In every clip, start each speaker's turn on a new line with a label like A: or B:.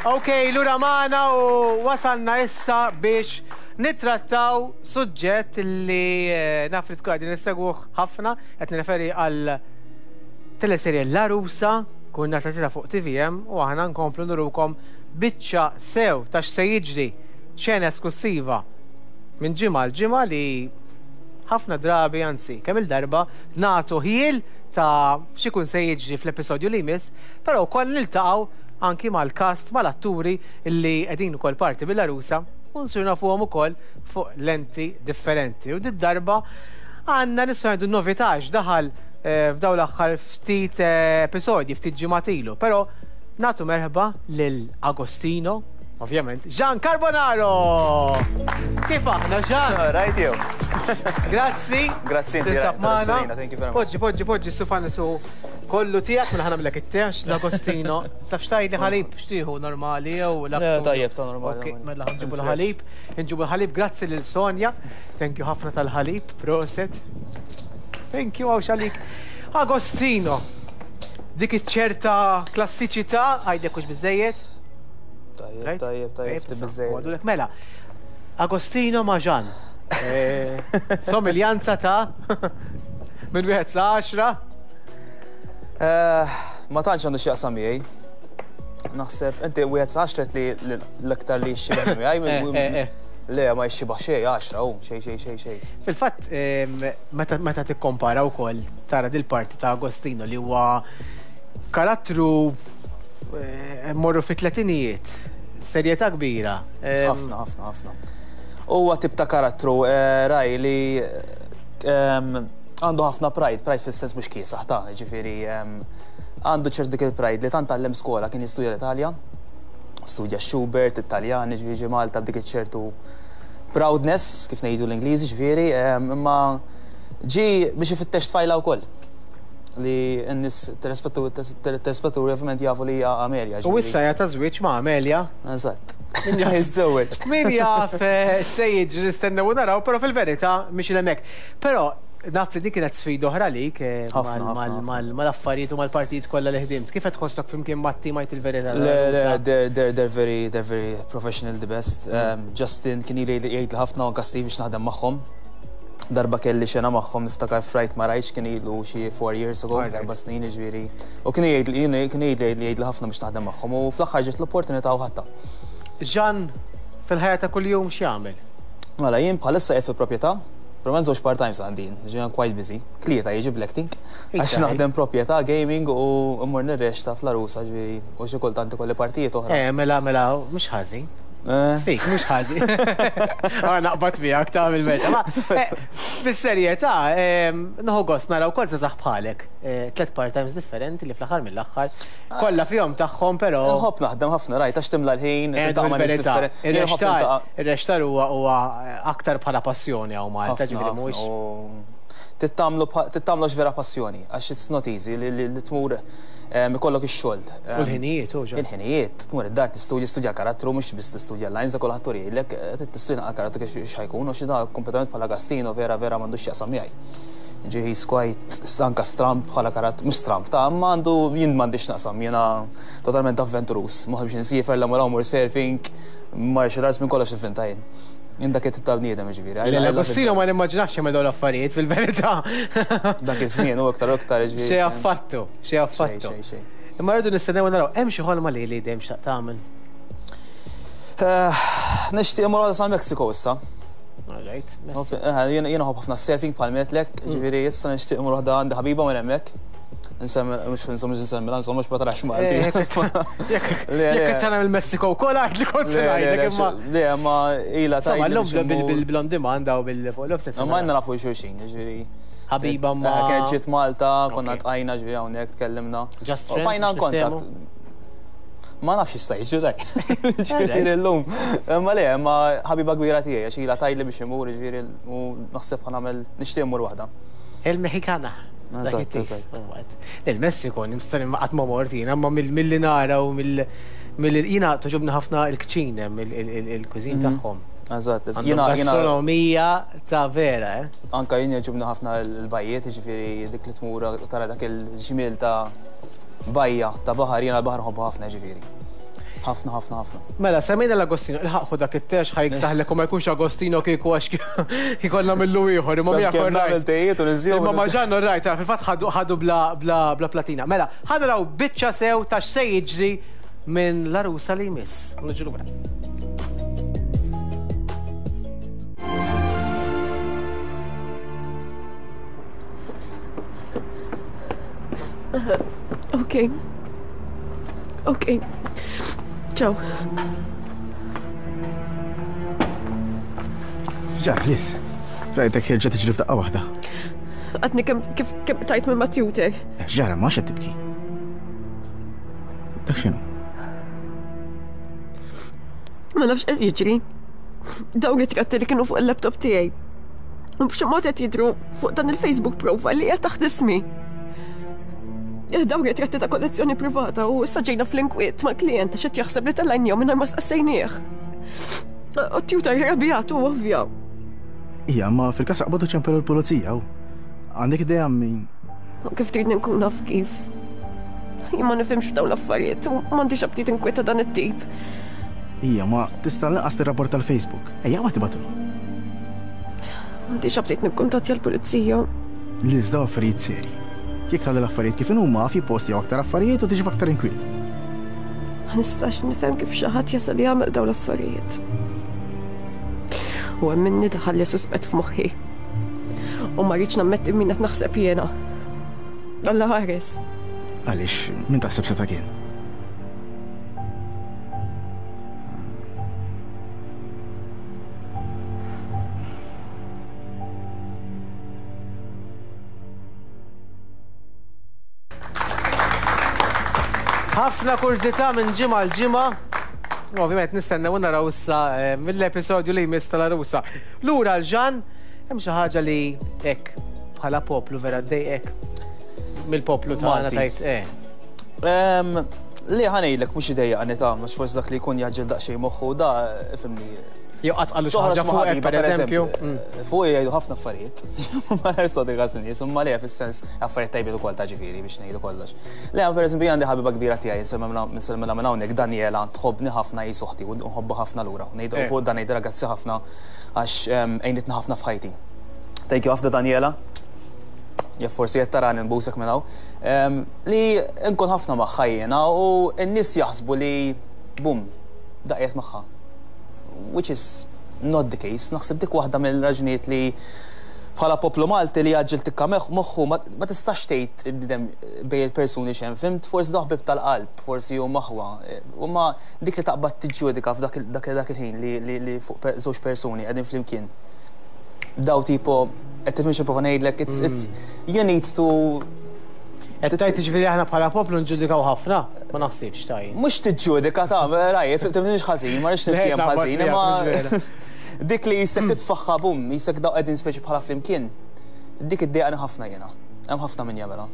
A: Ok, lura magħna u wasalna issa biex nittrattaw suġġett li eh, naf li tkun qegħdin issegwuh ħafna, qed nirreferi għal teleserje L-Għarusa, kunna tagħtita fuq TVM u aħna nkomplu nurukom biċċa sew ta' x'se jiġri xena esklussiva minn ġimgħa l ġimgħa li ħafna drabi, anzi, kemm il-darba nagħtu ħjiel ta' x'ikun se jiġri fl-episodju li jmiss, però wkoll niltaqgħu anki mal-cast, mal-atturi li qegħdin ukoll parti mill-Għarusa u nsiru nafuhom ukoll fuq lenti differenti. U did-darba għandna nistgħu ngħidu novità għax daħal eh, f'dawn l-aħħar ftit eh, episodji, ftit ġimgħat ilu. Però nagħtu merħba lil Agostino, ovvjament, Jean Carbonaro! Kif aħna, Jean?
B: Right you.
A: Grazzi.
B: Grazzi inti.
A: Tinsab magħna.
B: Thank you very much.
A: Poġġi, poġġi, poġġi, s-sufan su kollu tiegħek mela ħa nagħmlek it-tex l-Agostino. Taf x'tgħidli ħalib x'tieħu normali jew
B: Le, tajjeb ta' normali.
A: Ok, mela nġibu l-ħalib. Nġibu l-ħalib grazzi lil Sonja. Thank you ħafna tal-ħalib, proset. Thank you għaw xalik. Agostino, dik iċ-ċerta klassiċità għajdek hux biżejjed?
B: Tajjeb, tajjeb, tajjeb, biżejjed.
A: Mela, Agostino ma' Jean. Eh, somiljanza ta' minn wieħed sa' għaxra.
B: Eh, ma tantx għandu x'jaqsam miegħi. Naħseb, inti wieħed sa' għaxra li l-aktar li jixxibah miegħi.
A: Eh, eh,
B: Le, ma jixxibah xejn, għaxra, u xejn, xejn, xejn, xejn.
A: Fil-fatt, meta tikkompara wkoll tara dil-parti ta' Agostino li huwa karattru morru fit-tletinijiet, serjetà kbira.
B: Ħafna, ħafna, ħafna. Huwa tip ta' karattru, raj, li għandu ħafna pride, pride fis-sens mhux kiesaħ ta' ġifieri għandu ċert dik il-pride li tant tgħallem skola kien jistudja l-Italja, studja Schubert, Italjan, ġifieri ġie Malta b'dik iċ-ċertu proudness, kif ngħidu l-Ingliżi, ġifieri, imma ġie biex ifittex tfajla wkoll li n-nies telespettaturi ovvjament jafu li hija Amelia.
A: U issa hija ta' żwieġ ma' Amelia.
B: Eżatt. Min jaf jiżżewweġ.
A: Min jaf eh, x'se jiġri nistennew u naraw, però fil-verità mhix hemmhekk. Però naf li din kienet sfida oħra għalik eh, mal-affarijiet u mal-partijiet kollha li ħdimt. Kif qed tħossok flimkien mat-tim għid il-verità?
B: Le, le, they're, they're very, they're very professional, the best. Mm. Justin kien ili jgħid ħafna anka Steve biex naħdem magħhom. Darba kelli xena magħhom niftakar frajt ma rajtx kien ilu xi 4 years ago, 4 snin ġifieri. U kien jgħid li kien jgħid li jgħid ħafna biex naħdem magħhom u fl-aħħar ġiet l-opportunità u ħadtha.
A: Jean fil-ħajja ta' kuljum x'jagħmel?
B: Mela jien bħalissa qiegħed fil-proprjetà, Probablement żewġ part-times għandi, ġifieri quite busy. Tlieta jiġi bl-acting, għax naħdem proprjetà, gaming u mmur nirreċta fl-Għarusa ġifieri u xi kultant ikolli partijiet oħra.
A: Eh, mela, mela, mhux ħażin. Eh. Fik, mhux ħażin. Ah, naqbad miegħek ta' mill-meta. Ma, eh, Bis-serjetà, nieħu gost nara wkoll żgħażagħ bħalek. Tlet part-times differenti li fl-aħħar mill-aħħar kollha fihom tagħhom però.
B: Nħobb naħdem ħafna rajt għax timla l-ħin, tiltaqa' ma' nies differenti.
A: Ir-reċtar huwa huwa aktar bħala passjoni hawn Malta, ġifieri mhuwiex.
B: Trid tagħmlu għax vera passjoni, għax it's not easy li tmur ikollok ix-xogħol.
A: U l-ħinijiet, u ġa.
B: Il-ħinijiet, tmur id-dar tistudja, tistudja l-karattru, mhux biss tistudja l-lines, dak kulħadd hu jgħidlek, trid tistudja naqra karattru kif x'ħa jkun, u xi da kompletament bħala Gastino vera vera m'għandux x'jaqsam miegħi. Ġi he's quite anka stramb bħala karattru, mhux stramb ta' imma għandu jien m'għandix x'naqsam, jiena totalment avventuruż, ma nħobbx insiefer, la mur hawn mur surfing, martial arts minn kollox ivvinta jien. Jien dak it-tip ta' bniedem jiġifieri.
A: Le, Agostino ma nimmaġinax jagħmel dawn l-affarijiet fil-verità.
B: Dak iż-żmien u iktar u iktar jiġifieri.
A: Xejn affattu, xejn affattu.
B: Xejn, xejn, xejn.
A: Imma rridu nistennew u naraw, hemm xi ħolma li li dejjem xtaqt tagħmel?
B: Eh, nixtieq immur għal San Mexico issa.
A: All right.
B: Eh, jiena nħobb ħafna surfing bħal metlek, mm. ġifieri issa nixtieq immur waħda għandi ħabiba minn hemmhekk. Nsemmi, mux insomma nsemmi, insomma mux ma tarax Malti.
A: Eh, jekk qed tara mill-Messiko wkoll għid li kont se ngħidlek imma.
B: Le, ma ila
A: ta' Insomma, llum bil-on demand u bil-fuq l-offset.
B: Ma għandna nafu xulxin, ġifieri.
A: Ħabiba ma.
B: Eh, kienet ġiet Malta, konna tqajna ġifieri hawnhekk tkellimna.
A: Just friends.
B: Bajna contact. Ma nafx jista' jiġri dak. Ġifieri llum. Ma le, ma ħabiba kbira tiegħi għax ilha tgħidli biex imur, ġifieri u naħseb ħa nagħmel nixtieq immur waħda.
A: Il-Mexikana.
B: Eżatt, eżatt.
A: Il-Messiko, nimstani ma qatt ma mort jiena, ma milli nara u mill jiena toġobni ħafna il-kċin hemm il-cuisine mhm. tagħhom.
B: Eżatt, eżatt.
A: Jiena gastronomija ta' vera, eh?
B: Anka jien jogħġobni ħafna l-bajjiet, jiġifieri dik li tmur tara dak il-ġmiel ta' bajja ta' baħar, jiena l-baħar nħobbu ħafna ġifieri. Ħafna, ħafna, ħafna.
A: Mela, semmejna l-Agostino, ilħaq ħu dak it-tex ħa jiksaħlek u ma jkunx Agostino kieku għax ikollna millu ieħor, imma miegħek
B: all right.
A: Imma ma' Ġann all right, fil-fatt ħadu bla platina. Mela, ħa naraw biċċa sew ta' x'se jiġri minn l-għarusa li jmiss. U niġu lura.
C: Ok. Ok. Ciao.
D: Ġar, Liz. Rajtek ħirġa tiġri f'daqqa waħda.
C: Għatni kem kif kem tajt minn Matjute.
D: Ġara, ma qed tibki. Dak x'inhu?
C: Ma nafx qed jiġri. Dawn ritratti li kienu fuq il-laptop tiegħi. U b'xi mod qed jidhru fuq dan il-Facebook profile li qiegħed taħt ismi. Eh, dawn ritratti ta' kollezzjoni privata u issa ġejna fl-inkwiet mal-klijent għax qed jaħseb li tellajnihom mingħajr ma staqsejnieh. U t-tutor irrabjat u ovvja.
D: Ija, ma fil-każ aqbadu ċempelu l-pulizija u għandek idea min.
C: U kif tridni nkun naf kif? Jien ma nifhimx f'dawn l-affarijiet u m'għandix aptit inkwiet ta' dan it-tip.
D: Ija, ma tista' lanqas tirrapporta l-Facebook. Ejja, ma tibgħatulu.
C: M'għandix aptit nikkuntattja l-pulizija.
D: Liz, dawn affarijiet serji. Jekk tħalli l-affarijiet kif inhuma, għaf jippostjaw aktar affarijiet u tiġi f'aktar inkwiet.
C: Ma nistax nifhem kif xi ħadd jasal jagħmel dawn l-affarijiet. U hemm minni daħalli suspett f'moħħi. U ma rridx nammetti min qed naħseb jiena. Alla ħares.
D: Għaliex, min taħseb seta' kien?
A: Ħafna kurżità minn ġimgħa l ġimgħa. Ovvjament nistennew naraw issa eh, mill-episodju li jmiss tal-arusa. Lura l-ġan, hemm xi ħaġa li hekk bħala poplu vera ddejqek mill-poplu tagħna tajt eh.
B: Li ħa ngħidlek mhux idejjaqni ta' mhux forsi dak li jkun jaġġel daqsxejn moħħu da fimni.
A: Jew qatt qalu xi ħaġa fuqek pereżempju.
B: Mm. Fuq jgħidu ħafna affarijiet. Ma nistgħu dik nies, imma le fis-sens affarijiet tajbin ukoll ta' ġifieri biex ngħidu kollox. Le pereżempju għandi ħabiba kbira tiegħi nsemmilha minn hawnhekk Daniela tħobbni ħafna hi soħti u nħobbha ħafna lura. Ngħidu eh. fuq dan ngħidilha grazzi ħafna għax għinitna ħafna f'ħajti. Thank you ħafna Daniela. Jekk forsi qed tarani nbusek minn hawn. Li nkun ħafna magħha jiena u n-nies jaħsbu li bum, da qiegħed magħha. Which is not the case. Naħseb dik waħda mill-raġunijiet li bħala poplu Malti li jgħaġġel tikka moħħu ma tistax tgħid il-bniedem bejn il-persuni x'hemm, fhimt? Forsi dawn ħbieb tal-qalb, forsi huma aħwa. Imma dik li taqbad tiġġudika f'dak il-ħin li fuq żewġ persuni qegħdin flimkien. Daw tipo, qed tifhimx nipprova ngħidlek, it's, it's, you need to
A: Qed tgħid jiġifieri aħna bħala poplu nġudikaw ħafna? Ma naħsibx ta' jien.
B: Mhux tiġġudika ta' raj, tifhimx ħażin, ma rridx niftiehem ħażin, imma dik li jisek titfaħħa bum, jisek daw qegħdin speċi bħala flimkien, dik iddejqani ħafna jiena. Hemm ħafna min jagħmilha.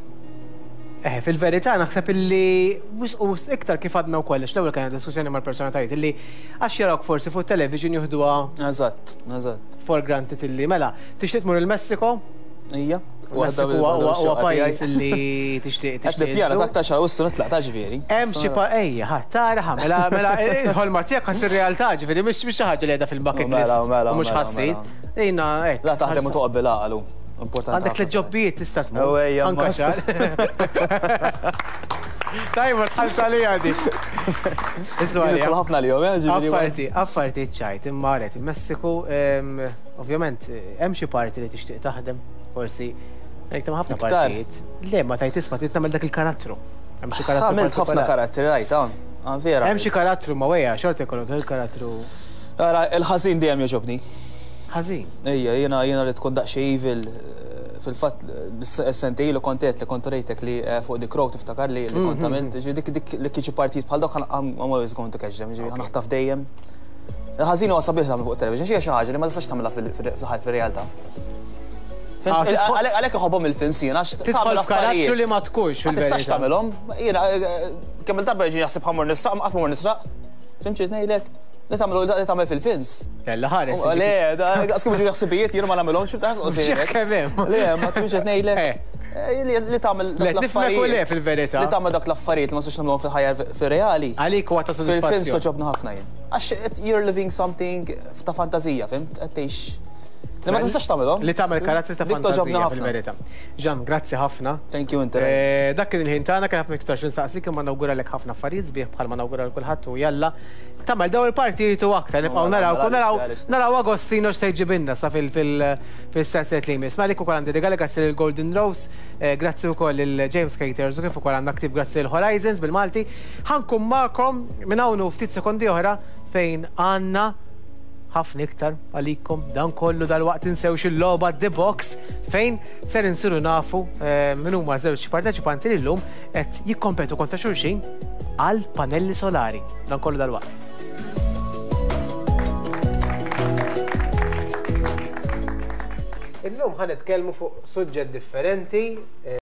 A: Eh, fil-verità naħseb illi wisq u wisq iktar kif għadna wkoll, għax l-ewwel kellna diskussjoni mal-personalitajiet illi għax jarawk forsi fuq television juħduha
B: Eżatt, eżatt.
A: For granted illi mela, tixtieq tmur il-Messiko?
B: Ija.
A: Messiku huwa pajjiż illi tixtieq
B: tixtieq. Qed nippjana ta' aktar xahar wissu nitlaq ta' ġifieri.
A: Hemm xi pa ejja, ħa tara ħa mela mela il-ħolma tiegħek ħa ssir realtà ġifieri mhix xi ħaġa li qiegħda fil-bucket list.
B: Mela, mela,
A: u mhux
B: mela,
A: ħa ssir.
B: mela.
A: Ejna hekk.
B: La taħdem u toqgħod bil-għaqal hu. Importanti.
A: Għandek
B: ħafna.
A: tliet ġobbijiet tista' tmur.
B: U ejja,
A: Anka
B: ma-
A: xahar. Tajba tħallt għalija dik. Isma'
B: Jien nidħol ħafna għalihom, eh, ġifieri.
A: Apparti, apparti ċ-ċajt, imma rajt il-Messiku, ehm, ovvjament, hemm xi parti li tixtieq taħdem, forsi. Ngħid hemm ħafna
B: Iktar.
A: partijiet. Le, ma tajt isma' trid tagħmel dak il-karattru. Hemm xi karattru.
B: Għamilt ħafna
A: partikolari.
B: karattri, rajt, hawn. Ah, vera.
A: Hemm xi karattru ma wejja, xorta jkollok dak il-karattru
B: Ara, il-ħażin dejjem jogħġobni.
A: ħażin.
B: Ejja, jiena jiena li tkun daqsxejn evil, fil-fatt sentejn ilu kont għedt li kont urejtek li fuq The Crow tiftakar li li kont għamilt, ġifieri dik dik li kieku partijiet bħal dawk I'm always going to catch them, ġifieri ħa naħtaf dejjem. Il-ħażin huwa sabiħ tagħmel fuq television, xi xi ħaġa li ma tistax tagħmilha fil-ħajja fir-realtà. Għalhekk iħobbhom il-films jien għax
A: tidħol f'karattru li ma tkunx
B: Ma tistax tagħmilhom. Jiena kemm il-darba jiġi jaħseb ħa mmur nisraq, qatt ma mmur nisraq. Fhimt xi ngħidlek? Li tagħmlu li tagħmel fil-films.
A: Kella ħares.
B: Le, daqs kemm jiġu ħsibijiet jien ma nagħmilhomx, xi taħseb.
A: Kemm hemm.
B: Le, ma tkunx qed ngħidlek. Eh, li tagħmel
A: dak l-affarijiet. Le fil-verità.
B: Li tagħmel dak l-affarijiet li ma nistax nagħmluhom fil-ħajja fir-reali.
A: Għalik huwa ta' sodisfazzjon.
B: Fil-films toġobna ħafna jien. Għax you're living something ta' fantażija, fimt? Qed tgħix Li ma tistax tagħmelhom.
A: Li tagħmel karattri ta' fantażija fil-verità. Ġan, grazzi ħafna.
B: Thank you inti.
A: Eh, dak kien il-ħin tagħna kien ħafna iktar xi imma nawguralek ħafna affarijiet sbieħ bħalma nawgura l kulħadd u jalla tagħmel daw il-partijiet u aktar nibqgħu naraw naraw naraw Agostino x'se jġibilna sa fil-sesset li jmiss. Malik ukoll għandi rigali grazzi lil Golden Rose, eh, grazzi wkoll lil James Caters u kif ukoll għandna ktib grazzi lil Horizons bil-Malti. Ħankun magħkom minn hawn u ftit sekondi oħra fejn għandna ħafna iktar għalikom dan kollu dalwaqt tinsewx il-logħba The Box fejn ser insiru nafu eh, min huma żewġ parteċipanti li llum qed jikkompetu kontra xulxin għal panelli solari. Dan kollu dalwaqt. Illum ħa nitkellmu fuq suġġett differenti.